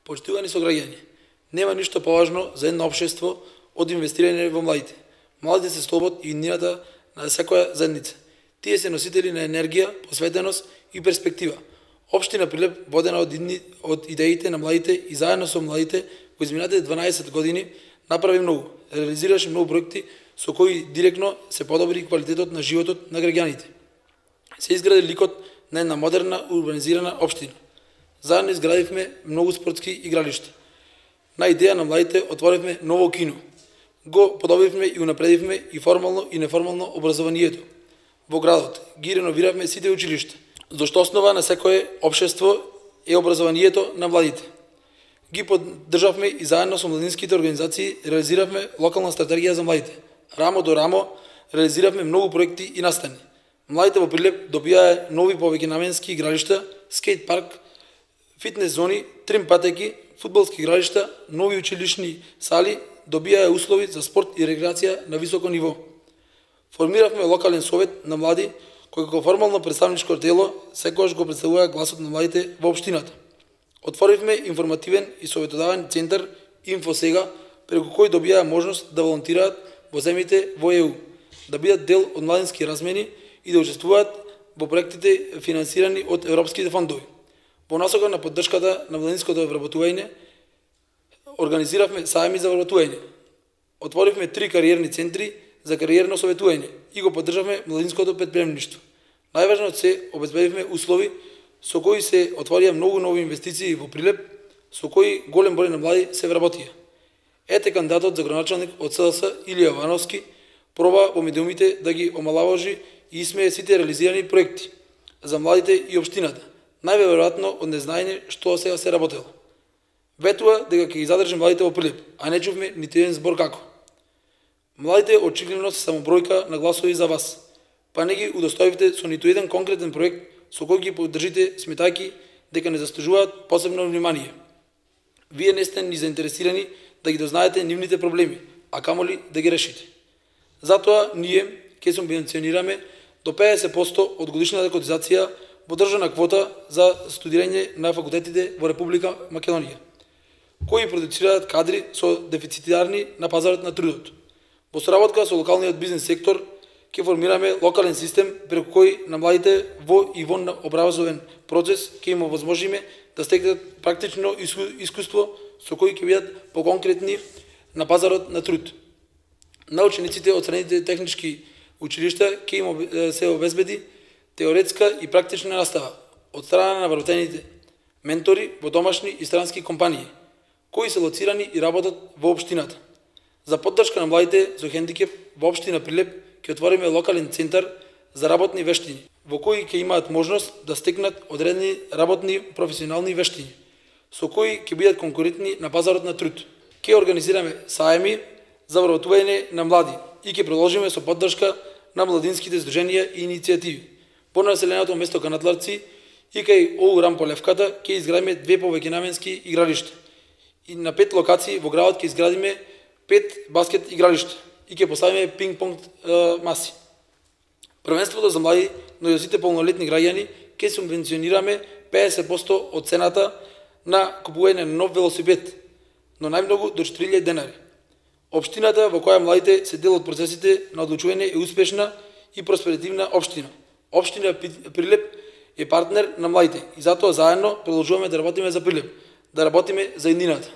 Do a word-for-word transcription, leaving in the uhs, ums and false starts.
Почитувани сограѓани, нема ништо поважно за едно општество од инвестирање во младите. Младите се столбот и иднината на секоја заедница. Тие се носители на енергија, посветеност и перспектива. Општина Прилеп, водена од, идни, од идеите на младите и заедно со младите во изминатите дванаесет години направи многу, реализираше многу проекти со кои директно се подобри квалитетот на животот на граѓаните. Се изгради ликот на една модерна урбанизирана општина. Заедно изградивме многу спортски игралишта. На идеја на младите отворивме ново кино. Го подобривме и унапредивме и формално и неформално образованието во градот. Ги реновиравме сите училишта. Зашто основа на секое општество е образованието на младите. Ги поддржавме и заедно со младинските организации реализиравме локална стратегија за младите. Рамо до рамо реализиравме многу проекти и настани. Младите во Прилеп добија нови повеќенаменски игралишта, скейт парк, фитнес зони, трим патеки, фудбалски игралишта, нови училишни сали, добија услови за спорт и рекреација на високо ниво. Формиравме локален совет на млади, кој како формално представничко тело секогаш го представува гласот на младите во општината. Отворивме информативен и советодавен центар Инфосега, преку кој добија можност да волонтираат во земјите во ЕУ, да бидат дел од младински размени и да учествуваат во проектите финансирани од европските фондови. Во насока на поддршката на младинското вработување, организиравме сајми за вработување. Отворивме три кариерни центри за кариерно советување и го поддржавме младинското претприемништво. Најважно од се, обезбедивме услови со кои се отворија многу нови инвестиции во Прилеп, со кои голем број на млади се вработија. Ете кандидатот за градоначалник од СДС Илија Вановски проба во медиумите да ги омалаважи и исмее сите реализирани проекти за младите и општината, најверојатно од незнаење што сега се работело. Ветува дека ќе ги задржи младите во Прилеп, а не чувме нити еден збор како. Младите очигледно се само бројка на гласови за вас, па не ги удостоивте со ниту еден конкретен проект со кој ги поддржите сметајки дека не заслужуваат посебно внимание. Вие не сте ни заинтересирани да ги дознаете нивните проблеми, а камоли да ги решите. Затоа ние ќе субвенционираме до педесет проценти од годишната котизација во државна квота за студирање на факултетите во Република Македонија, кои продуцираат кадри со дефицитарни на пазарот на трудот. Во соработка со локалниот бизнес сектор ќе формираме локален систем преку кој на младите во и вон образовен процес ќе им овозможиме да стекнат практично искуство со кои ќе бидат поконкретни на пазарот на труд. На учениците од средните технички училишта ќе им се обезбеди теоретска и практична настава од страна на вработените ментори во домашни и странски компании, кои се лоцирани и работат во општината. За поддршка на младите со хендикеп во општина Прилеп ќе отвориме локален центар за работни вештини, во кои ќе имаат можност да стекнат одредени работни професионални вештини, со кои ќе бидат конкурентни на пазарот на труд. Ќе организираме сајми за вработување на млади и ќе продолжиме со поддршка на младинските здруженија и иницијативи. Во населеното место Канатларци и кај ОУ Рамполевката ќе изградиме две повеќенаменски игралишта. И на пет локации во градот ќе изградиме пет баскет игралишта и ќе поставиме пинг-понг маси. Првенството за млади, но и за сите полнолетни граѓани ќе субвенционираме педесет проценти од цената на купување на нов велосипед, но најмногу до четири илјади денари. Општината во која младите се дел од процесите на одлучување е успешна и просперитивна општина. Општина Прилеп е партнер на младите и затоа заедно продолжуваме да работиме за Прилеп, да работиме за иднината.